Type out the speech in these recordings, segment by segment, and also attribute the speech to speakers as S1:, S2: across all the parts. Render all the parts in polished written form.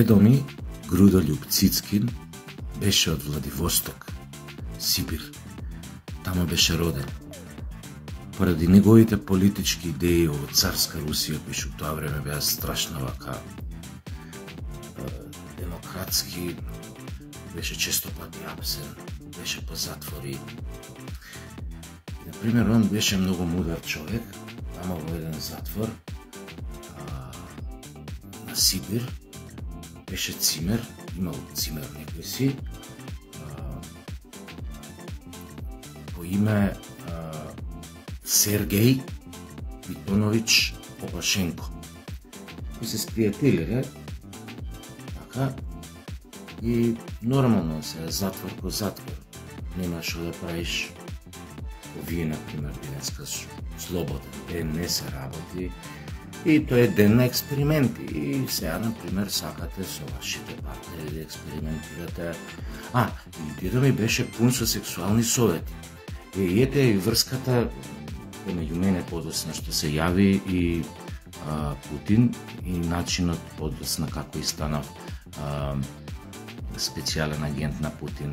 S1: Прадедо ми, Грудолюб Цицкин, беше од Владивосток, Сибир. Тамо беше роден. Поради неговите политички идеи од царска Русија, кои што тоа време беа страшно вака демократски, беше често пати апсен, беше по затвори. Например, он беше многу мудар човек, тамо во еден затвор на Сибир, беше цимер, имал цимер некој си, по име Сергеј Питонович Опашенко. И се спријателиле, така, и нормално се затвор по затвор. Нема што да правиш. Вие, например, денеска слободен ден, не се работи, и тоа е ден на експерименти. И сега, например, сакате со вашите партнери да експериментирате. И дедо ми беше пун со сексуални совети. И ете и врската меѓу мене подосна што се јави и Путин и начинот подосна како и станав специјален агент на Путин,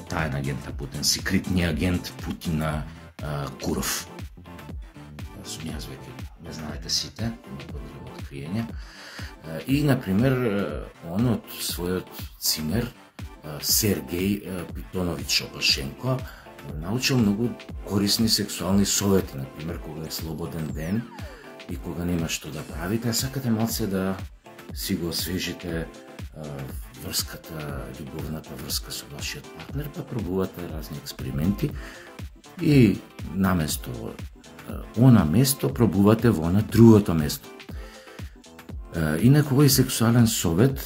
S1: таен агент на Путин, секретниот агент Путина Куров. Сум јас веќе, не знаете сите, не потреба откриење. И, например, он од својот цимер, Сергеј Питонович Опашенко, научил многу корисни сексуални совети, например, кога е слободен ден и кога нема што да правите, а сакате малце да си го освежите врската, љубовната врска со вашиот партнер, па пробувате разни експерименти и наместо она место пробувате во она другото место. Инаку овој сексуален совет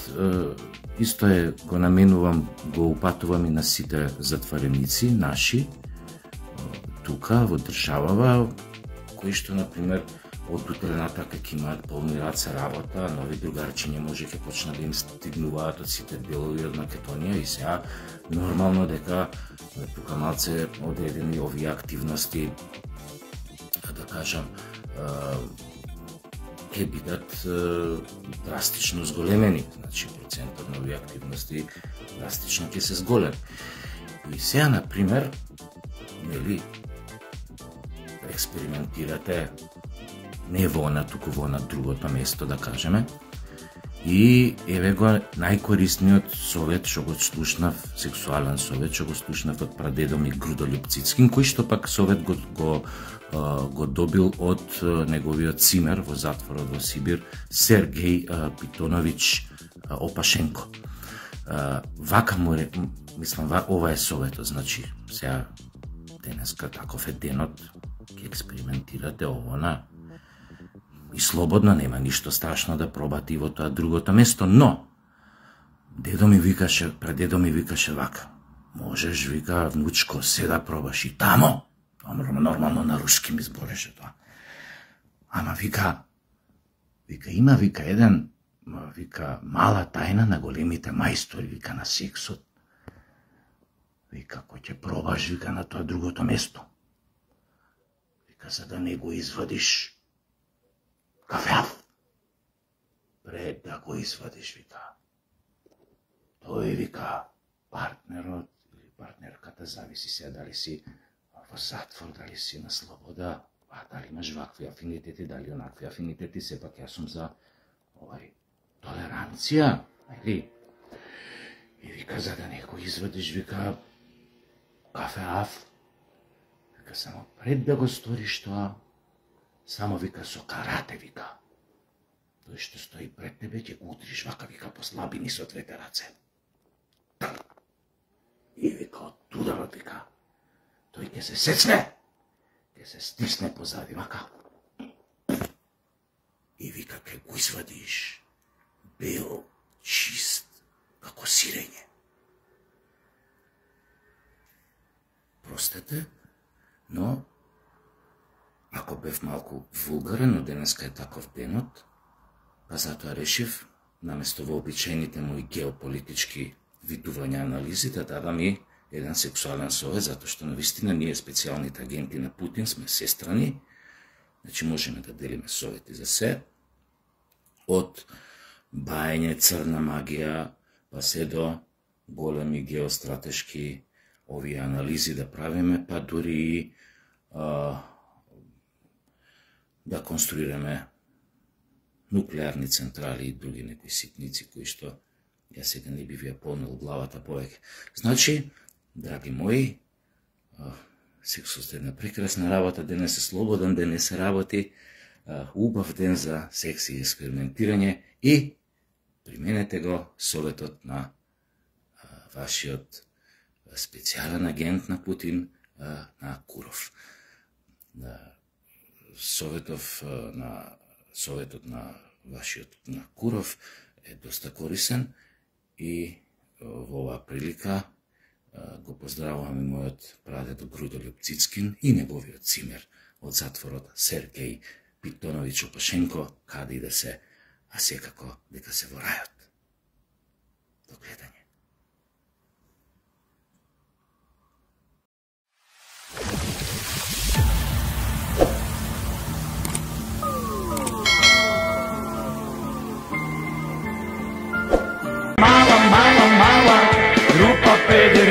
S1: исто е, го наменувам, го упатувам и на сите затвореници наши тука во државава, кои што, например, од утре натака ќе имаат полни раце работа, нови другарчиња може ќе почнат да им стигнуваат од сите делови од Македонија и сега нормално дека тука малце одредени овие активности, да кажам, ќе бидат драстично зголемени, значи процентот на овие активности драстично ќе се зголеми. И сега, например, нели, експериментирате не во она, туку во на другото место, да кажеме, и еве го најкорисниот совет што го слушнав, сексуален совет што го слушнав од прадедо ми Грудолюб Цицкин, кој што пак совет го добил од неговиот цимер во затворот во Сибир, Сергеј Питонович Опашенко. Вака му мислам, ова е советот, значи, сега денеска таков е денот, ќе експериментирате овона, и слободно, нема ништо страшно да пробате и во тоа другото место, но дедо ми викаше, прадедо ми викаше вака: можеш, вика, внучко, се да пробаш и тамо. Нормално на руски ми збореше тоа. Ама вика, има, вика, еден, вика, мала тајна на големите мајстори, вика, на сексот. Вика, кој ќе пробаш, вика, на тоа другото место. Вика, за да не го извадиш кафеав, пред да го извадиш, вика, тој, вика, партнерот или партнерката, зависи се дали си во затвор, дали си на слобода, дали имаш вакви афинитети, дали онакви афинитети, сепак јас сум за толеранција, или? И вика, за да не го извадиш, вика, кафеав, вика, само пред да го сториш тоа, само, вика, со карате, вика, тој што стои пред тебе, ќе го удриш вака, вика, по слабини со двете раце. И вика, од ударот, вика, тој ќе се сецне, ќе се стисне позади, вака. И вика, ќе го извадиш, бел, чист, како сирење. Простете, но ако бев малку вулгарен, но денеска е таков денот, па затоа решив, наместо во обичајните мои геополитички видувања анализи, да дадам и еден сексуален совет, затоа што навистина ние специјалните агенти на Путин сме сестрани, значи можеме да делиме совети за се, од бајање, црна магија, па се до големи геостратешки овие анализи да правиме, па дури и да конструираме нуклеарни централи и други некои ситници кои што ја сега не би ви ја полнил главата повеќе. Значи, драги мои, сексот е една прекрасна работа, денес е слободен, денес се работи, убав ден за секс и експериментирање и применете го советот на вашиот специјален агент на Путин, на Куров. Советот на вашиот на Куров е доста корисен и во оваа прилика го поздравувам и мојот прадедо Грудолюб Цицкин и неговиот цимер од затворот Сергеј Питонович Опашенко, каде и да се, а секако дека се во рајот. До гледање.
S2: Мала, група 50.